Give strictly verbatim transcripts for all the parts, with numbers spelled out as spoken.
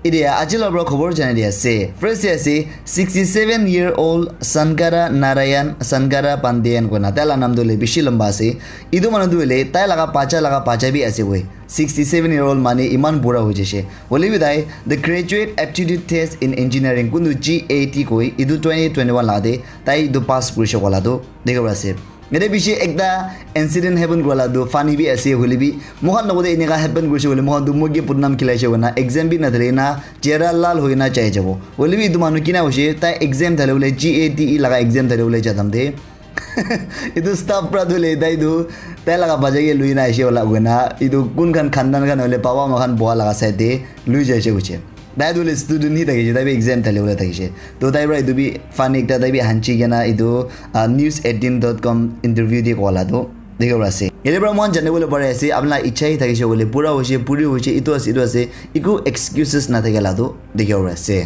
Etia aji la para khobor janai di ase. First te ase sixty seven year old Sankara Narayan Sankara Pandian koina, tai la naam tu hoile bishi lamba ase. Etu manu tu hoile tai laga bacha laga bacha bi ase koi. Sixty seven year old manu eman bura hoi jaise. Hoile bi tai the graduate aptitude test in engineering kuntu G A T koi, etu twenty twenty one la te tai etu pass kurise kola tu dikhi pai ase. Yate bishi ekta incident happen kura la tu funny bi ase, hoile bi moikhan logote eneka happen kurise koile moikhan tu moi ke badnam khilaise koina exam bi nathale na chehra lal hoina jai jabo. Hoile bi etu manu kina hoise, tai exam thale bole, G A T E laga exam thale bole jadam te etu staff pra tu le tai tu tai laga bacha ke lui na aise wala koina, etu kun khan khandan khan hoile baba ma khan boha laga side te lui jaise koise. Tai tu le student hi thakise, tai bi exam thale bole thakise. To tai pra etu bi funny ekta, tai bi hanchi kena etu, ah, news eighteen dot com interview te kola tu dikhi pai ase. Yate pra moikhan jani bole pari ase, apni la ichha hi thakise koile, pura hoise, puri hoise, etu ase, etu ase, eku excuses nathake la tu dikhi pai ase.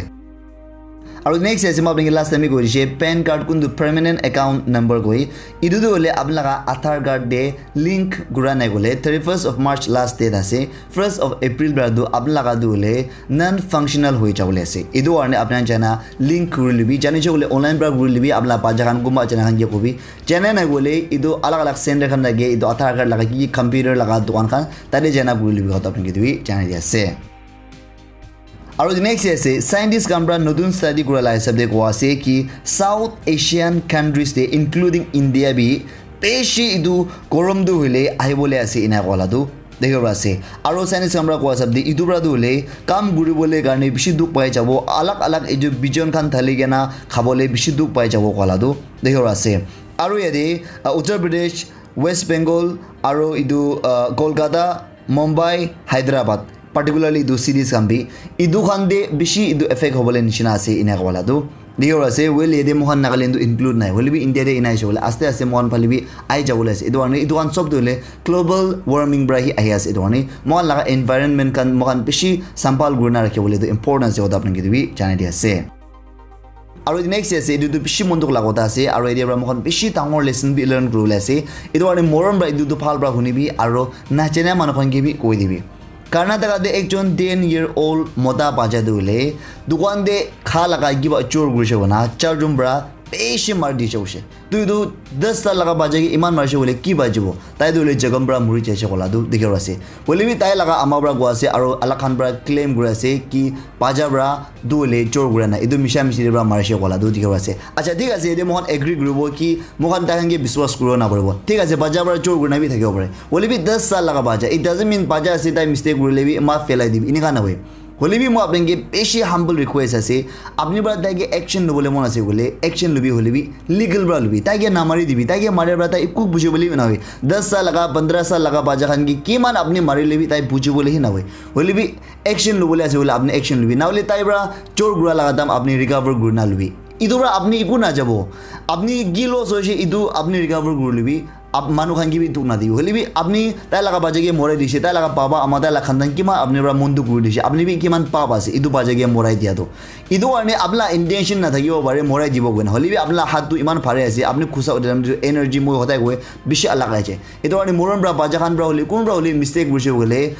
Aru next ase, moi apni ke last time bi koi dise, PAN card kuntu permanent account number koi. Etu tu hoile apni laga Aadhaar card te link kura nai koile, thirty first of March last date ase. First of April pra tu apni laga tu hoile non functional hoi jabole ase. Etu karne apni khan jana link kuri libi, jani je koile online pra kuri libi, apni la bacha khan kunba jana khan ke kobi. Jana nai koile etu alag alag center khan thake, etu Aadhaar card laga ki ki computer laga dukan khan tate jana kuri libi kotha apni ke tu bi janai di ase. Aru next ase, scientist khan pra notun study kura la hisab de koa ase ki South Asian countries de including India bi beshi etu gorom tu hoile ahi bole ase ena koa la tu dikhi pai ase. Aru scientist khan pra koa hisab de etu pra tu hoile kam kuri bole karne bishi dukh pai jabo, alag alag etu bijon khan thali kena khabole bishi dukh pai jabo koa la tu dikhi pai ase. Aru yate, uh, Uttar Pradesh, West Bengal, aru etu, uh, Kolkata, Mumbai, Hyderabad, particularly etu cities khan bi, etu khan te bishi etu effect hobole nishina ase ena koa la tu dikhi pai ase. Well, yate moikhan Nagaland tu include nai, hoile bi India te ena aise bole aste aste moikhan phale bi ahi jabole ase. Etu karne etu khan sob tu hoile global warming pra hi ahi ase. Etu karne moikhan laga environment khan moikhan bishi sambhal kurina rakhi bole tu important ase, kotha apni ke tu bi janai di ase. Aru next ase, etu tu bishi mon dukh laga kotha ase, aru etia pra moikhan bishi dangor lesson bi learn kuribole ase. Etu karne morom pra etu tu bhal pra hunibi, aru najana manu khan ke bi koi dibi. Karnataka te ekjon ten year old mota bacha tu hoile dukan te kha laga kiba chor kurise koina charjon pra bishi mari dise koise. Tu etu das saal laga bacha ke iman marise koile ki bachibo? Tai tu hoile jokhom pra muri jaise koa la tu dikhi pai ase. Hoile bi tai laga ama pra koa ase aru alag khan pra claim kuri ase ki bacha pra tu hoile chor kura nai, etu misha mishi pra marise koa la tu dikhi pai ase. Acha, thik ase, yate moikhan agree kuribo ki moikhan tai khan ke biswas kuribo naparibo. Thik ase, bacha pra chor kurina bi thakibo pare. Hoile bi das saal laga bacha, it doesn't mean bacha ase tai mistake kurile bi maaf pelai dibi, eneka nahoi. Hoile bi moi apni ke bishi humble request ase, apni pra tai ke action lobole mon ase koile action lobi, hoile bi legal pra lobi, tai ke namari dibi, tai ke mare pra tai eku buji bole bi nahoi. Das saal laga, pondra saal laga bacha khan ke kiman apni marile bi tai buji bole hi nahoi. Hoile bi action lobole ase koile apni action lobi, nahole tai pra chor kura laga dam apni recover kurina lobi. Etu pra apni eku najabo, apni ki loss hoise etu apni recover kuri lobi. Ap-, manu khan ke bi dukh nadibi. Hoile bi apni tai laga bacha ke morai dise, tai laga baba ama, tai laga khandan kiman apni pra mon dukh kuri dise, apni bi kiman pap ase etu bacha ke morai dia tu. Etu karne apni la intention nathakibo pare morai dibo koina, hoile bi apni la hath tu iman bhari ase, apni khusa uthi time tu energy moi hodai koi bishi alag ahi jai. Etu karne morom pra bacha khan pra hoile kun pra hoile mistake kurise koile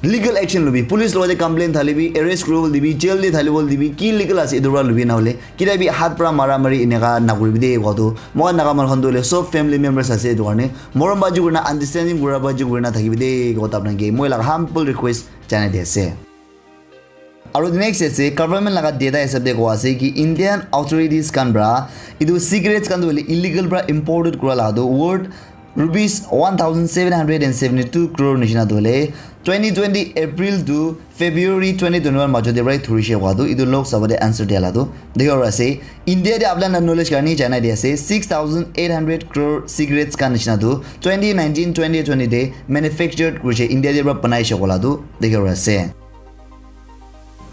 legal action lobi, police logote complaint thalibi, arrest kuribole dibi, jail te thalibole dibi, ki legal ase etu pra lobi, nahole kila bi hath pra mara mari eneka nakuribi de koa tu. Moikhan Naga manu khan tu hoile sob family members ase, etu karne morom baji kurina, understanding kura baji kurina thakibi de koa tu apni ke moi laga humble request janai di ase. Aru next ase, government laga data hisab de koa ase ki Indian authorities khan pra etu cigarettes khan tu hoile illegal pra imported kura laga tu worth rupees one thousand seven hundred and seventy two crore nishina tu hoile twenty twenty April to February twenty twenty one majo de pra thurise koa tu etu Lok Sabha de answer dia la tu dikhi pai ase. India de apni khan la knowledge karne janai di ase, six thousand eight hundred crore cigarettes khan nishina tu twenty nineteen twenty twenty de manufactured kurise, India de pra banaise koa la tu dikhi pai ase.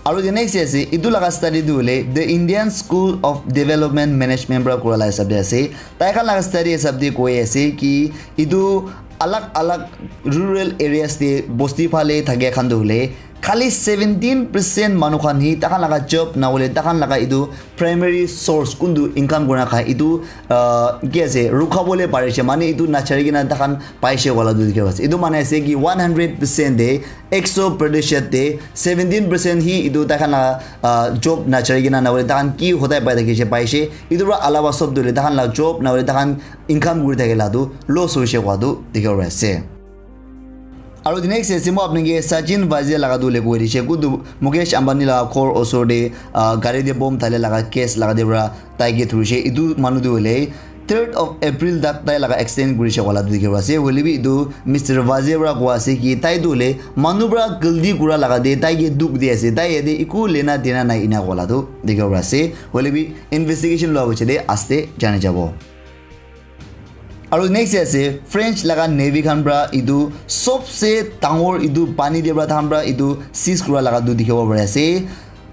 Aru the next ase, etu laga study tu hoile the Indian School of Development Management pra kura la hisab de ase. Tai khan laga study hisab de koi ase ki etu alag alag rural areas de bosti phale thake khan tu hoile Khali seventeen percent manu khan hi takhan laga job na hoile takhan laga itu primary source kuntu income kurina khai itu, ah, ki ase, rukha bole parishe, mane itu nachari kena takhan paishe wala tu dikhi ase. Itu mane ase ki one hundred percent de, ekso percent de, seventeen percent hi itu takhan laga, ah, job nachari kena na hoile takhan ki hotai pai thakishe paishe. Itu pra alawa sob tu le takhan laga job na hoile takhan income kuri thakila tu loss hoishe kwa tu dikhi ase. Aru the next ase, moi apni ke Sachin Vazia laga tu le koi dishe, kuntu Mukesh Ambani laga ghor osor de, ah, gari de bomb thale laga case laga de pra tai ke thurishe. Itu manu tu hoile third of April tak tai laga extend kurishe wala tu dikhi ase. Hoile bi itu Mister Vazia pra koa ase ki tai tu hoile manu pra galti kura laga de tai ke dukh di ase. Tai yate iku lena dena nai ina wala tu dikhi ase. Hoile bi investigation lua hoise de aste jani jabo. Aru next ase French laga navy khan pra itu sobse dangor itu pani de pra tahan pra itu seize kura laga tu dikhibo pari ase.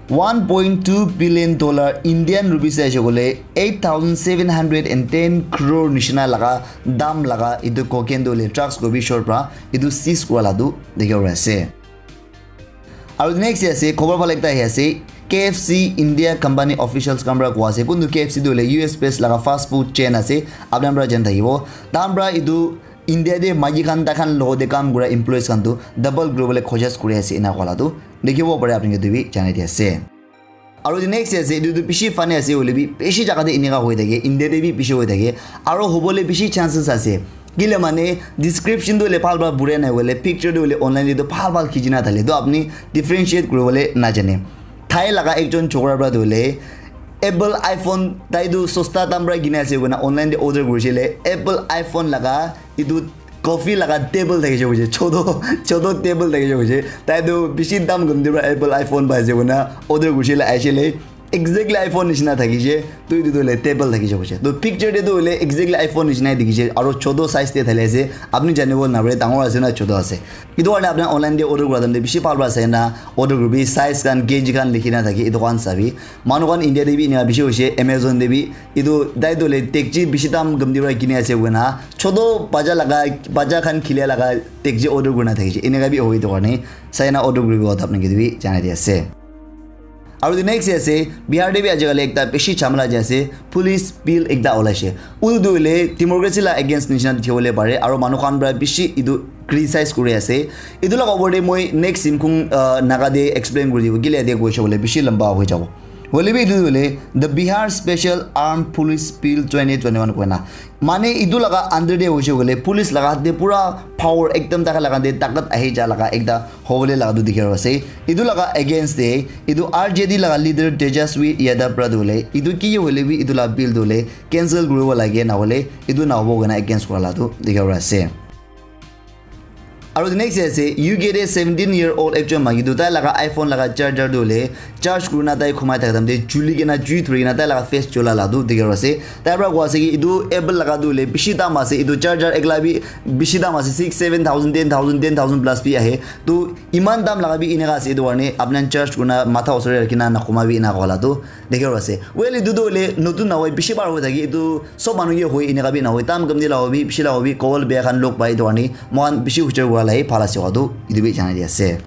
One point two billion dollar Indian rupees ase koile eight thousand seven hundred and ten crore nishina laga dam laga itu cocaine tu le drugs ko bi short pra itu seize kura la tu dikhibo pari ase. Aru next ase khobor bhal ekta ahi ase, K F C India company officials khan pra koa ase, kuntu K F C tu hoile U S based laga fast food chain ase, apni khan pra jani thakibo. Tahan pra itu India de maiki khan takhan logo de kam kura employees khan tu double kuribole khojaj kuri ase ena koa la tu dikhibo pare, apni khan tu bi jani di ase. Aru the next ase, etu tu bishi funny ase, hoile bi bishi jaga te eneka hoi thake, India te bi bishi hoi thake, aru hobole bishi chances ase. Kile mane description tu hoile bhal bhal burai nai hoile, picture tu hoile online te tu bhal bhal khichi na thale, to apni differentiate kuribole najane. Thai laga ekjon chokra pra tu hoile Apple iPhone tai tu sosta dam pra kina ase koina online te order kurishe le, Apple iPhone laga etu coffee laga table thakishe koishe, choto, choto table thakishe koishe. Tai tu bishi dam gumdi pra Apple iPhone pai ase koina order kurishe le aishe le, exactly iPhone nishina thakishe, tu etu tu hoile table thakishe koishe. To picture te tu hoile exactly iPhone nishina dikhishe, aro choto size te thali ase, apni janibo na pare dangor ase na choto ase. Etu karne apni online te order kura time te bishi bhal pra sai na order kuribi, size khan, K G khan likhi na thaki etu khan sabi. Manu khan India te bi eneka bishi hoishe, Amazon te bi. Etu tai tu hoile dekchi bishi dam gumdi pra kini ase koina, choto bacha laga, bacha khan khilia laga dekchi order kurina thakishe. Eneka bi hoi etu karne sai na order kuribi kotha apni ke bi janai di ase. Aru the next ase, Bihar te bi ajikali ekta bishi jhamela jai ase, police bill ekta olaishe. Utu tu hoile democracy la against nishina dikhiwole pare, aru manu khan pra bishi etu criticize kuri ase. Etu laga opor te moi next Simkhung, ah, Naga te explain kuri dibo, kile yate koishe koile bishi lamba hoi jabo. Hoile bi etu tu hoile the Bihar Special Armed Police Bill twenty twenty-one koina. Mane etu laga under te hoishe koile police laga hath te pura power ekdam thaka laga te takat ahi ja laga ekta hobole laga tu dikhi ase. Etu laga against te etu R J D laga leader Tejaswi Yadav pra tu hoile etu ki hoile bi etu laga bill tu hoile cancel kuribo lage, na hoile etu na hobo koina against kura la tu dikhi ase. Aru the next ase, U K te seventeen year old ekjon maiki tu tai laga iPhone laga charger tu hoile charge kurina tai khumai thaka time te juli kena jui thuri kena tai laga face jola la tu dikhi ase. Tai pra koa ase ki etu Apple laga tu hoile bishi dam ase, etu charger ekla bi bishi dam ase, six, seven thousand, ten thousand, ten thousand plus bi ahe. Tu iman dam laga bi eneka ase, etu karne apni khan charge kurina matha osor te rakhina nakhuma bi eneka koa la tu dikhi ase. Well, etu tu hoile notun nahoi, bishi bar hoi thaki, etu sob manu ke hoi, eneka bi nahoi, tam kam di la hobi, bishi la hobi, kobol beya khan log pai, etu karne moikhan bishi huchar kura la hi bhal ase koa tu etu bi janai di ase.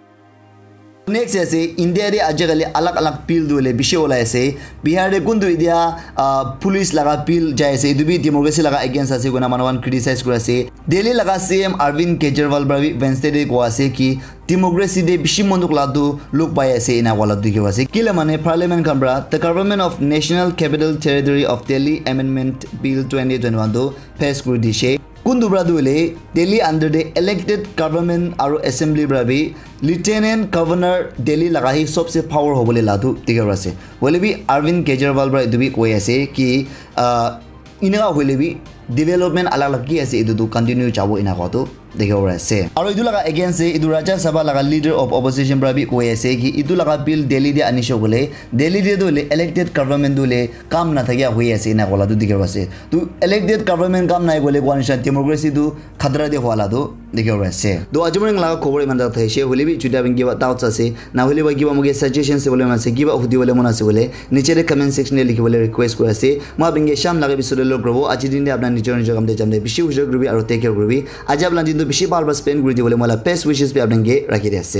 Next ase, India te ajikali alag alag bill tu hoile bishi olai ase. Bihar te kuntu etia, ah, police laga bill jai ase, etu bi democracy laga against ase koina manu khan criticize kuri ase. Delhi laga C M Arvind Kejriwal pra bi Wednesday te koa ase ki democracy te bishi monok la tu luk pai ase ena wala tu dikhi ase. Kile mane parliament khan pra the Government of National Capital Territory of Delhi Amendment Bill twenty twenty-one tu pass kuri dishe. Kuntu pra tu hoile Delhi under te elected government aru assembly pra bi lieutenant governor Delhi laga hi sobse power hobole la tu dikhi ase. Hoile bi Arvind Kejriwal pra etu bi koi ase ki, ah, eneka hoile bi development alag alag ki ase etu tu continue jabo ena koa tu dikhibo pari ase. Aru etu laga against te etu Rajya Sabha laga leader of opposition pra bi koi ase ki etu laga bill Delhi te anishe koile Delhi te tu hoile elected government tu hoile kam nathakia hoi ase ena koa la tu dikhibo ase. Tu elected government kam nai koile koa nisina democracy tu khatra te hua la tu dikhibo pari ase. To aji morning laga khobor iman tak thaishe, hoile bi juti apni kiba doubts ase, na hoile ba kiba moke suggestion ase bole mon ase, kiba hudi bole mon ase bole, niche te comment section te likhi bole request kuri ase. Moi apni ke sham laga episode te log kuribo, aji din te apna nijor nijor kam te jam te bishi huchar kuribi aru take care kuribi. Aji apna din tu bishi bhal pra spend kuri dibole moi la best wishes bi apni ke rakhi di ase.